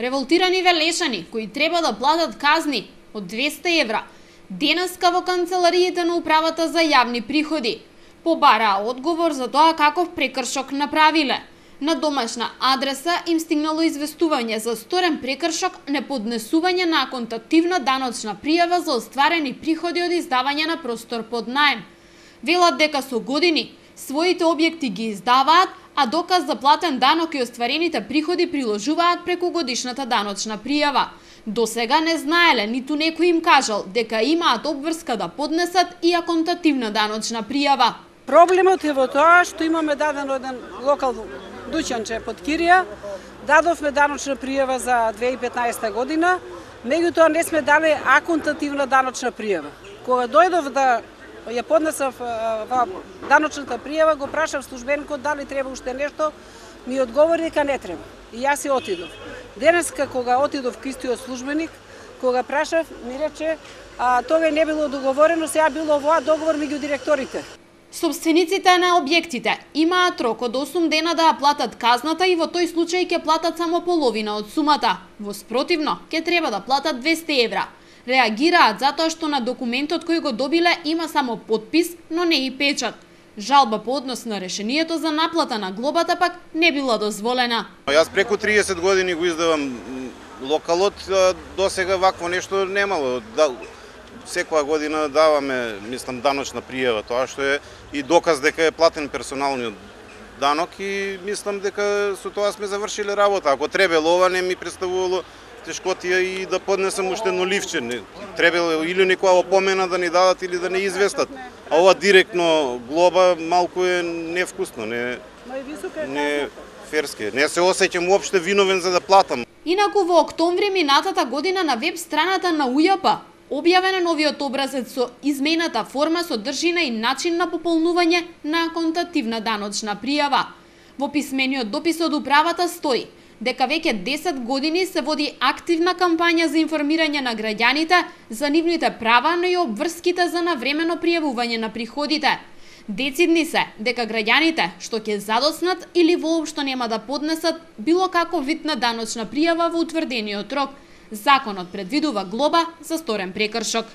Револтирани велешани кои треба да платат казни од 200 евра, денеска во канцелариите на управата за јавни приходи побараа одговор за тоа каков прекршок направиле. На домашна адреса им стигнало известување за сторен прекршок, неподнесување на аконтативна даночна пријава за остварени приходи од издавање на простор под наем. Велат дека со години своите објекти ги издаваат, а доказ за платен данок и остварените приходи приложуваат преку годишната даночна пријава. До сега не знаеле, ниту некој им кажал дека имаат обврска да поднесат и аконтативна даночна пријава. Проблемот е во тоа што имаме дадено еден локал дуќанче под кирија, дадовме даночна пријава за 2015 година, меѓутоа не сме дали аконтативна даночна пријава. Кога дојдов да ја поднесав даночната пријава, го прашав службеникот дали треба уште нешто, ми одговори дека не треба. И јас си отидов. Денеска кога отидов кај истиот службеник, кога прашав, ми рече, тоа не било договорено, сега било овоа договор меѓу директорите. Собствениците на објектите имаат рок од 8 дена да ја платат казната и во тој случај ќе платат само половина од сумата. Во спротивно, ќе треба да платат 200 евра. Реагираат затоа што на документот кој го добиле има само потпис, но не и печат. Жалба по однос на решението за наплата на глобата пак не била дозволена. Јас преку 30 години го издавам локалот, до сега вакво нешто немало. Секоја година даваме, мислам, даночна пријава, тоа што е и доказ дека е платен персоналниот данок и мислам дека со тоа сме завршиле работа. Ако требело ова не ми представувало тешкотија и да поднесам уште едно ливче. Требело или некоја опомена да ни дадат или да не известат. А ова директно глоба малку е невкусно, не ферски. Не се осеќам уопште виновен за да платам. Инаку во октомври минатата година на веб страната на УЈП објавен новиот образец со измената форма, содржина и начин на пополнување на аконтативна даночна пријава. Во писмениот допис од управата стои дека веќе 10 години се води активна кампања за информирање на граѓаните за нивните права, но и обврските за навремено пријавување на приходите. Децидни се дека граѓаните што ќе задоснат или воопшто нема да поднесат било каков вид на даночна пријава во утврдениот рок. Законот предвидува глоба за сторен прекршок.